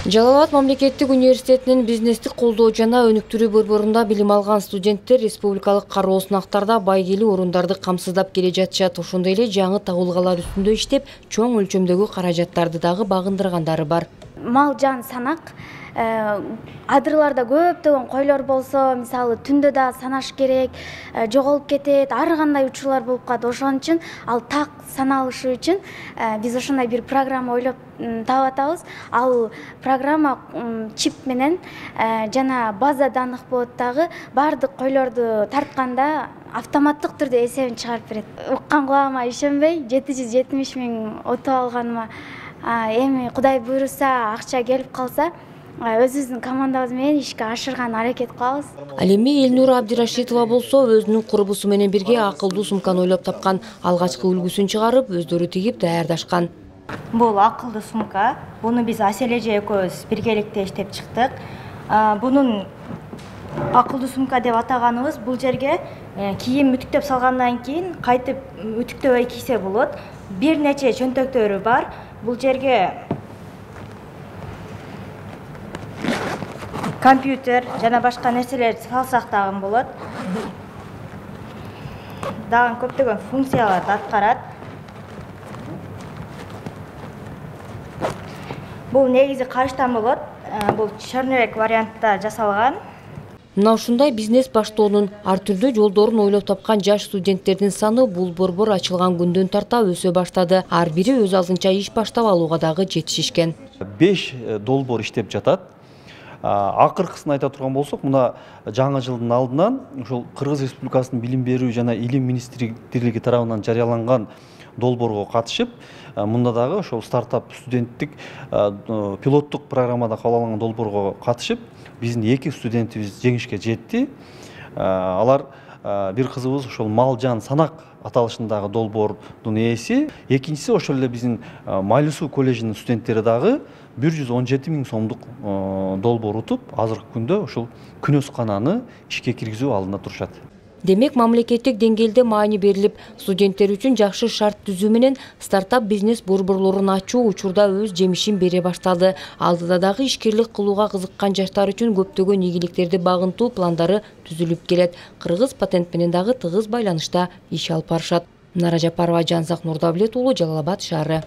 Жалал Абад мамлекеттик университетинин бизнестик колдоо жана өнүктүрүү борборунда билим алган студенттер республикалык кароо сынактарда байгелүү орундарды камсыздап келе жатышат. Ошондой эле жаңы табылгалар үстүндө иштеп, чоң өлчөмдөгү каражаттарды дагы багындыргандары бар. Мал жан санак адырларда көптөгөн койлор болсо, мисалы түндө да санаш керек, жоголуп кетет, ар кандай учурлар болуп калат. Ошон үчүн ал так саналышы үчүн биз ошондой бир программа ойлоп таап атабыз. Ал программа чип менен жана база данных болот дагы, баардык койлорду тартканда автоматтык түрдө эсебин чыгарып берет. Уккан кулагыма ишенбей 770 000 утуп алганыма эми Кудай буйруса, акча келип калса, өзүбүздүн командабыз менен ишке ашырган аракет кылабыз. Ал эми Элнура Абдирашитова болсо өзүнүн курбусу менен бирге акылдуу сумканы ойлоп тапкан. Алгачкы үлгүсүн чыгарып, өздөрү тигип даярдашкан. Бул акылдуу сумка. Буну биз Аселе эже экөөбүз биргеликте иштеп чыктык. Бунун акылдуу сумка деп атаганыбыз, бул жерге кийим үтүктөп салгандан кийин кайтып үтүктөбөй кийсе болот. Бир нече чөнтөктөрү бар. Бул жерге компьютер жана башка нерселерди салсак дагы болот. Дагы көптөгөн функцияларды аткарат. Бул негизи карыштан болот. Бул чөйрөк вариантта жасалган. Мына ушундай бизнес баштоонун ар түрдүү жолдорун ойлоп тапкан жаш студенттердин саны бул борбор ачылган күндөн тарта өсө баштады. Ар бири өз алдынча иш баштап алууга дагы жетишишкен. 5 долбоор иштеп жатат. Акыркысын айта турган болсок, мына жаңы жылдын алдынан ушул Кыргыз Республикасынын билим берүү жана илим министрлиги тарабынан жарыяланган долбоорго катышып, мында дагы ошол стартап студенттик пилоттук программада кабыл алынган долбоорго катышып, биздин 2 студентибиз жеңишке жетти. Алар бир кызыбыз ошол мал жан санак аталышындагы долбоордун ээси, экинчиси ошол эле биздин Майлуу коллежинин студенттери дагы 117 000 сомдук долбоор утуп, азыркы күндө ушул күнөскананы ишке киргизүү алдында турушат. Демек, мамлекеттик деңгээлде маани берилип, студенттер үчүн жакшы шарт түзүү менен стартап бизнес борборлорун ачуу учурда өз жемишин бере башталды. Алдыда дагы ишкерлик кылууга кызыккан жаштар үчүн көптөгөн ийгиликтерди багынтуу пландары түзүлүп келет. Кыргыз патент менен дагы тыгыз байланышта иш алып барышат. Нара Жапарова, Жанзак Нурдавлет уулу, Жалал Абад шаары.